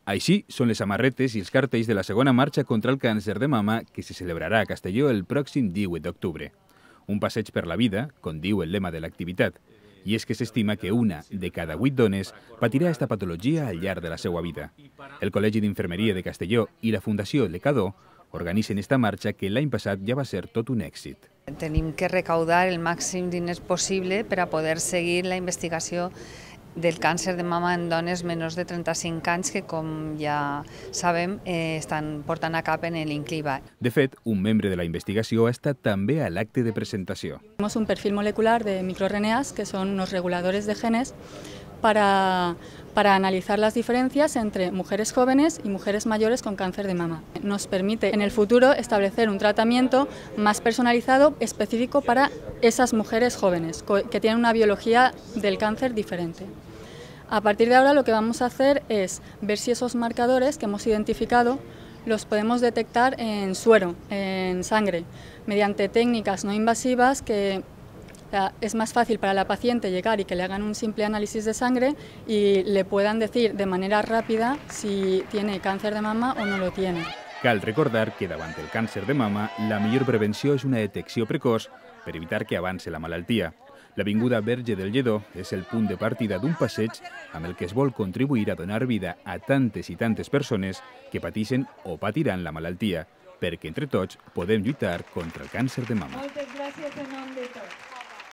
Així són les samarretes i els cartells de la segona marxa contra el càncer de mama que se celebrarà a Castelló el pròxim 18 d'octubre. Un passeig per la vida, com diu el lema de l'activitat, i és que s'estima que una de cada 8 dones patirà esta patologia al llarg de la seva vida. El Col·legi d'Infermeria de Castelló i la Fundació Lecador organitzen esta marxa que l'any passat ja va ser tot un èxit. Tenim que recaudar el màxim diners possible per a poder seguir la investigació del càncer de mama en dones menors de 35 anys que, com ja sabem, estan portant a cap en l'INCLIVA. De fet, un membre de la investigació ha estat també a l'acte de presentació. Tenemos un perfil molecular de microRNAs, que son unos reguladores de genes, para analizar las diferencias entre mujeres jóvenes y mujeres mayores con cáncer de mama. Nos permite en el futuro establecer un tratamiento más personalizado, específico para esas mujeres jóvenes que tienen una biología del cáncer diferente. A partir de ahora lo que vamos a hacer es ver si esos marcadores que hemos identificado los podemos detectar en suero, en sangre, mediante técnicas no invasivas que es más fácil para la paciente llegar y que le hagan un simple análisis de sangre y le puedan decir de manera rápida si tiene cáncer de mama o no lo tiene. Cal recordar que davant el càncer de mama la millor prevenció és una detecció precoç per evitar que avance la malaltia. L'Avinguda Verge del Lledó és el punt de partida d'un passeig amb el que es vol contribuir a donar vida a tantes i tantes persones que pateixen o patiran la malaltia, perquè entre tots podem lluitar contra el càncer de mama. Moltes gràcies en nom de tots.